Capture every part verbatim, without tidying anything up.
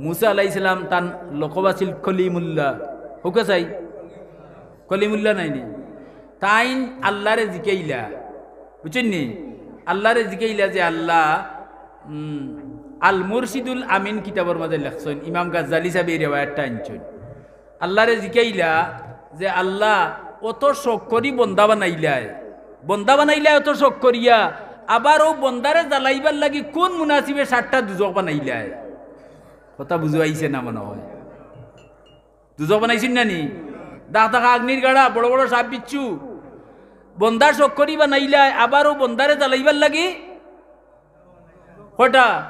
মুসা আলাইহিস সালাম তান লকব আছিল কলিমুল্লাহ। হুকা চাই? কলিমুল্লাহ নায়নি? তাইন আল্লারে জিকাইলা, বুঝছইন নি? আল্লারে জিকাইলা যে আল্লাহ, উম, আল মুরশিদুল আমিন কিতাবর মাঝে লেখছইন, ইমাম গাজ্জালী সাহেবে এই রেওয়ায়াতটা আনছইন। আল্লারে জিকাইলা যে, "আল্লাহ, অত শখ করি বন্দা বানাইলায়, বন্দা বানাইলায় অত শখ করিয়া, আবার অউ বন্দারে জ্বালাইবার লাগি কুন মুনাসিবে সাতটা দুজখ বানাইলায়?" কথা বুঝাইছে না মনে হয়। দুজখ বানাইছইন না নি? দাগ দাগা আগ্নির গাড়া, বড় বড় সাপ বিচ্ছু। বন্দার শখ করি বানাইলায়, আবার অউ বন্দারে জ্বালাইবার লাগি কয়টা?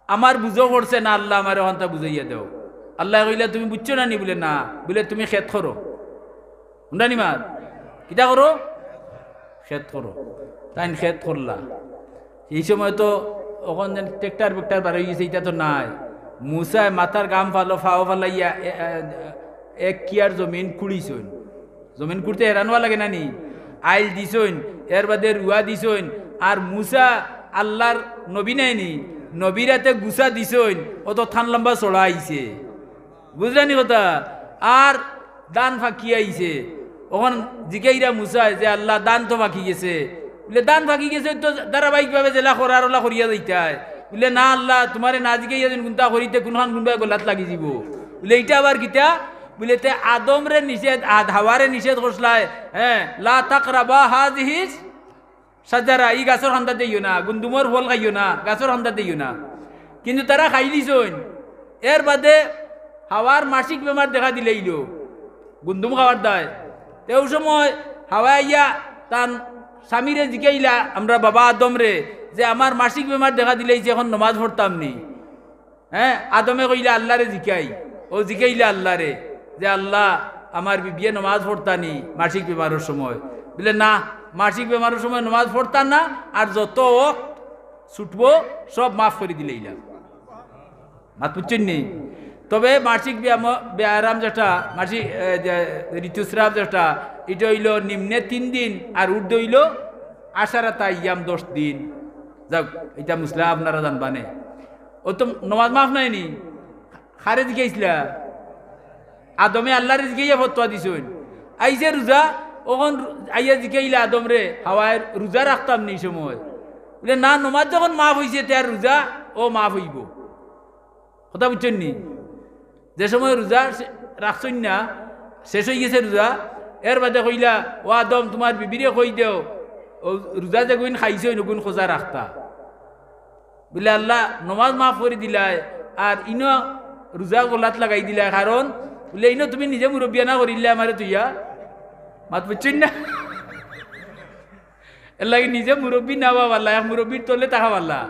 আমার বুঝো পড়ছে না, আল্লাহ আমারে অখানতা বুঝাইয়া দেও। আল্লায় কইলা, "তুমি বুঝছো না নি?" বুলে, "না।" বুলে, "তুমি খেত করো।" হুনরা নি মাত? কিতা করো? খেত করো। তাইন খেত করলা। এই সময় তো অখন যেন ট্রেক্টর বেক্টর বার অইগেছে, ইটা তো নাই। মুসায় মাথার ঘাম ফালো, ফাও ফালাইয়া এ-, এ-, এক কিয়ার জমিন কুড়িছইন। জমিন কুড়তে হেরান অওয়া লাগে না নি? আইল দিছইন, এর বাদে রুয়া দিছইন। আর মুসা আল্লার নবী নায়নি, নবীর আতে গুছা দিছইন, অত থান লম্বা ছড়া আইছে। বুঝরা নি কথা? আর ধান ফাকি আইছে। অখন জিকাইরা মুসায় যে, "আল্লাহ, ধান তো ফাকি গেছে।" বুলে, "ধান ফাকি গেছে তো ধারাবাহিকভাবে যেলা করার অলা করিয়া যাইতায়।" বুলে, "না আল্লাহ, তুমারে না জিকাইয়া যেন কুনতা করিতে কুনখান কুনবায় গলাত লাগি যিবো।" বুলে, "ইটা আবার কিতা?" বুলে, "তে আদমরে নিষেধ, আদ-, হাওয়ারে নিষেধ করছলায়, হ্যাঁ, লা তাকরাবা হাযিহিস শাজারা, ই গাছর কান্দাত যাইও না, গুন্দুমর ফল খাইও না, গাছর কান্দাত যাইও না।" কিন্তু তারা খাইলিছইন। এর বাদে হাওয়ার মাসিক বেমার দেখা দিলাইলো, গুন্দুম খাওয়ার দায়। তে অউ সময় হাওয়ায় আইয়া তান স্বামীরে জিকাইলা, আমরার বাবা আদমরে, যে, "আমার মাসিক বেমার দেখা দিলাইছে, অখন নমাজ পড়তাম নি?" হ্যাঁ, আদমে কইলা, "আল্লারে জিকাই।" অউ জিকাইলা আল্লারে যে, "আল্লাহ, আমার বিবিয়ে নমাজ পড়তা নি মাসিক বেমারর সময়?" বুলে, "না, মাসিক বেমারর সময় নমাজ পড়তা না, আর যত অক্ত ছুটবো সব মাফ করি দিলাইলাম।" মাত বুঝছইন নি? তবে মাসিক ব্যায়াম, ব্যায়াম যেটা, মাসিক, এ, যে ঋতুস্রাব যেটা, ইটা অইলো নিম্নে তিন দিন আর ঊর্ধ্বে অইলো আশারাতা আইয়াম, দশ দিন। যাউক, ইটা মুসলা আপনারা জানবা নে। অউ তো নমাজ মাফ নায়নি? কারে জিকাইছলা? আদমে আল্লারে জিকাইয়া ফতোয়া দিছইন। আইছে রোজা, অখন রো-, আইয়া জিকাইলা আদমরে, হাওয়ায়, "রোজা রাখতাম নি ই সময়?" বুলে, "না, নমাজ যখন মাফ অইছে, তে আর রোজা অউ মাফ অইবো।" কথা বুঝছইন নি? যে সময় রোজা শে-, রাখছইন না, শেষ অইগেছে রোজা, এর বাদে কইলা, "ও আদম, তুমার বিবিরে কই দেও, অউ রোজা যেগুইন খাইছইন, অগুইন কজা রাখতা।" বুলে, "আল্লাহ, নমাজ মাফ করি দিলায়, আর ইনো রোজা গলাত লাগাই দিলায়, কারণ," বুলে, "ইনো তুমি নিজে মুরব্বিয়ানা করিলায় আমারে থইয়া।" মাত বুঝছইন না? এরলাগি নিজে মুরব্বি না অওয়া ভালা, এক মুরব্বির তলে থাকা ভালা।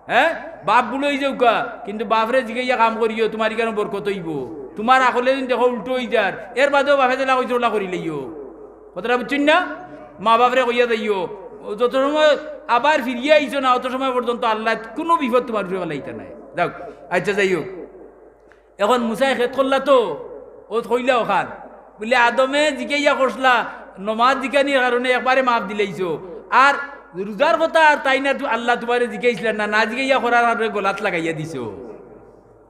হ্যাঁ, বাপ বুড়া অইযাউক্কা, কিন্তু বাপরে জিকাইয়া কাম করিও, তুমার ইখানো বরকত অইবো। তুমার আকলে যদি দেখো উল্টো অইযার, এর বাদেও বাপে যেলা কইছে অলা করিলাইও। কথাটা বুঝছইন না? মা বাপরে কইয়া যাইও, যত সময় আবার ফিরিয়া আইছো না, অত সময় পর্যন্ত আল্লায় কুনু বিপদ তুমার উপরে ফালাইতা নায়। যাউক, আইচ্ছা, যাই হউক। অখন মুসায় খেত করলা তো, অউ কইলা অখান। বুলে, "আদমে জিকাইয়া করছলা, নমাজ জিকানির কারণে একবারে মাফ দিলাইছো। আর রোজার কথা আর তাইন না, তু-, আল্লাহ তুমারে জিকাইছলা না, না জিকাইয়া করার কারণে গলাত লাগাইয়া দিছো।"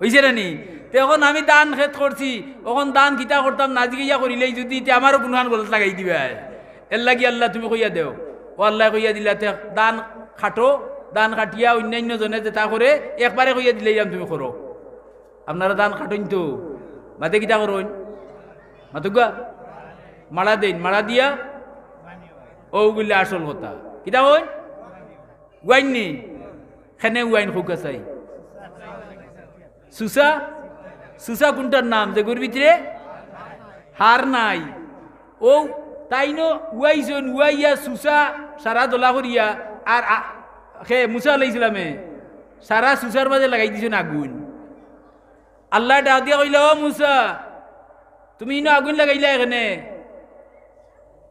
অইছে না নি? তে অখন আমি ধান খেত করছি, অখন ধান কিতা করতাম, না জিকাইয়া করিলাই যদি, তে আমারও কুনখান গলাত লাগাই দিবায়। এরলাগি আল্লাহ তুমি কইয়া দেও। অউ আল্লায় কইয়া দিলা, "তে ধান কাটো, ধান কাটিয়া অইন্যাইন্য জনে যেতা করে, একবারে কইয়া দিলাইলাম তুমি করো।" আপনারা ধান কাটইন তো, বাদে কিতা করইন? মাতউক্কা, মাড়া দেইন, মাড়া দিয়া অউ গুলা আসল কথা। কিতা কইন? উয়াইন নি? কেনে উয়াইন কউক্কা চাই। সুসা, সুসা কুনটার নাম? যেগুর ভিতরে হাড় নাই। অউ তাইনও উয়াইছইন, উয়াইয়া সুসা সারা দলা করিয়া, আর আ-, হে মুসা আলাইহিস সালামে সারা সুসার মাঝে লাগাই দিছইন আগুইন। আল্লায় ডাক দিয়া কইলা, "ও মুসা, তুমি ইনো আগুইন লাগাইলায় কেনে?"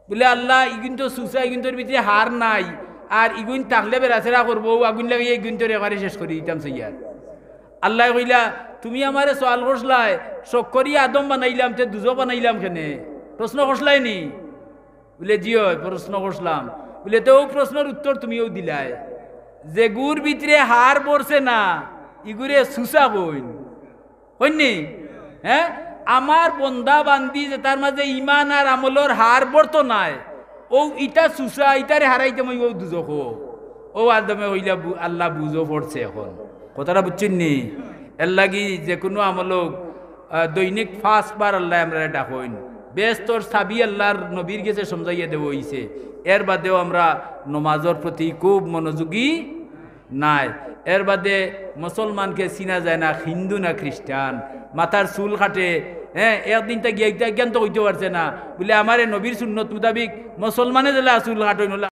বুলে, "আল্লাহ, ইগুইন তো সুসা, ইগুইনতর ভিতরে হাড় নাই, আর ইগুইন থাকলে বেড়াছেড়া করবো, অউ আগুইন লাগাইয়া ইগুইনতরে একবারে শেষ করি দিতাম চাইয়ার।" আল্লায় কইলা, "তুমি আমারে সওয়াল করছলায়, শখ করি আদম বানাইলাম, তে দুজখ বানাইলাম কেনে?" প্রশ্ন করছলায় নি? বুলে, "জি অয়, প্রশ্ন করছলাম।" বুলে, "তে অউ প্রশ্নর উত্তর তুমিও দিলায়। যেগুর ভিতরে হাড় ভরছে না, ইগুরে সুসা কইন, কইন নি? হ্যাঁ, আমার বন্দা বান্দি যেটার মাঝে ইমান আর আমলর হার বর্ত নাই, ও ইটা সুসা, ইটারে হারাইতে মই ও দুজখ। ও আদমে কইলা বু-, আল্লাহ বুঝো পড়ছে এখন। কথাটা বুঝছইন নি? এর লাগি যে কোনো আমলক, আহ, দৈনিক পাঁচবার আল্লাহ আমরারে ডাকইন। বেহেস্তর চাবি আল্লাহর নবীর গেছে সমঝাইয়া দেওয়া অইছে। এর বাদেও আমরা নমাজর প্রতি খুব মনোযোগী নাই। এর বাদে মুসলমানকে চিনা যায় না, হিন্দু না খ্রিস্টান, মাথার চুল কাটে, হ্যাঁ, একদিন তা গিয়া ইটা জ্ঞান তো হইতে পারছে না, বলে আমারে নবীর সুন্নত মোতাবিক মুসলমানে দিলা চুল কাটইন, হলে